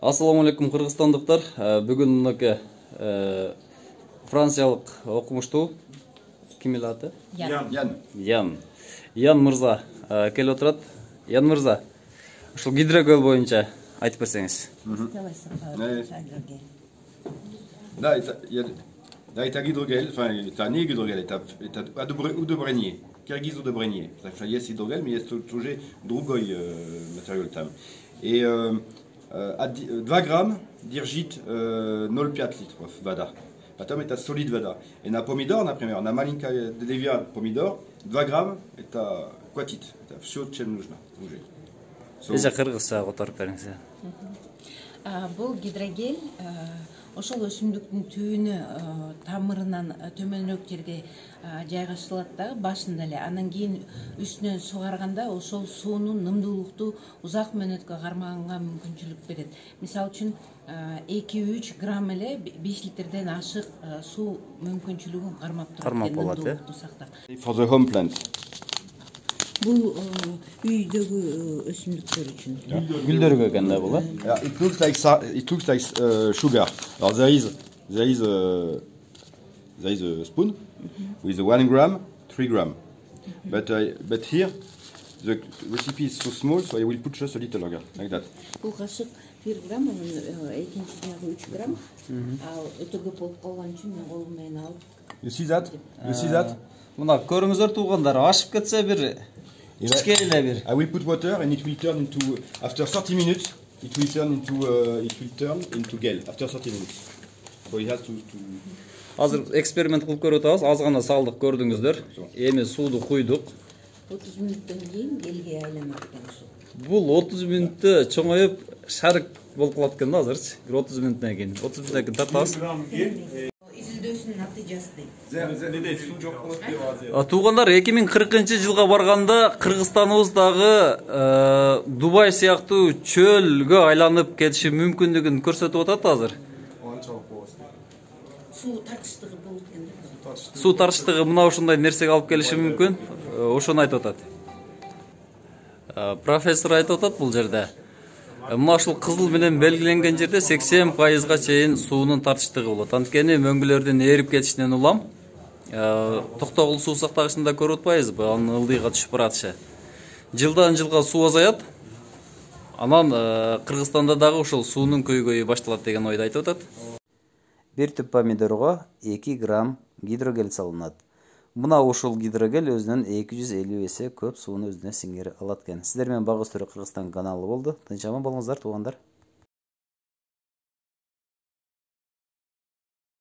Ассаламу алейкум, кыргызстандыктар. Бүгүн мынакей франциялык окумуштуу ким эле аты? Ян мырза келип отурат. Ян мырза, ушул гидрокөл боюнча айтып берсеңиз. Да, это гидрогель, enfin, это не гидрогель, это удобрение, киргиз удобрение. Потому что есть гидрогель, но есть тоже другой материал там. И 2 грамм держит 0,5 литров вода. Потом это солид вода. И на помидор, например, на маленькое деревья помидор, 2 грамм это хватит. Это все, чем нужно уже. Эже кыргызча которуп бериңиз. Бул гидрогель ошол өсүмдүктүн түбүнө тамырынан төмөнүрөөк жерге жайгашылат да, башында эле. Анан кийин үстүнөн сугарганда ошол суунун нымдуулукту узак мөөнөткө кармаганга мүмкүнчүлүк берет. Мисалы үчүн 2-3 грамм эле 5 литрден ашык суу мүмкүнчүлүгүн кармап турат. Кармап болот, For the home plant. Бул үйдөгү өсүмдүктөр үчүн. Гүлдөргө экен да бул, э? Yeah, it looks like sugar. There is a spoon with 1 gram, 3 gram. But here the recipe is so small, so I will put just a little longer, like that. Бул кашык 1 грамм, экинчисине 3 грамм. Ал өтө көп болуп калган үчүн мен колум менен алып. You see that? You see that? Мына көрүңүздөр туугандар, ашып кетсе бир ичке эле бир. I will put water and it will turn into after 30 minutes. It will turn into gel after 30 minutes. So it has to. Азыр эксперимент кылып көрүп атабыз. Аз гана салдык, көрдүңүздөр. Эми сууду куйдук. 30 мүнөттөн кийин гелге айланат экен ушул. Бул 30 мүнөттө чоңоюп шарик болуп калат экен да азырчы. Бир 30 мүнөттөн кийин. 30 мүнөттөн кийин тартабыз. Изилдөөсүнүн натыйжасы дейт. Туугандар, 2040-жылга барганда Кыргызстаныбыздагы Дубай сыяктуу чөлгө айланып кетиши мүмкүндүгүн көрсөтүп атат азыр. Суу тартыштыгы болот экен. Суу тартыштыгы мына ушундай нерсеге алып келиши мүмкүн. Ошону айтып атат. Профессор айтып атат бул жерде. Мына ушул кызыл менен белгиленген жерде 80%га чейин суунун тартыштыгы болот. Анткени мөңгүлөрдүн эрип кетишинен улам токтогул суу сактагычында көрүп атпайбызбы? Анын ылдыйга түшүп баратышы. Жылдан жылга суу азаят. Анан Кыргызстанда дагы ушул суунун көйгөйү башталат деген ойду айтып атат. Бир түп помидорго 2 грамм гидрогель салынат. Мына ушул гидрогель өзүнөн 250 эсе көп сууну өзүнө сиңдире алат экен. Сиздер менен Багыз Төрө Кыргызстан каналы болду. Тынч аман болуңуздар, туугандар.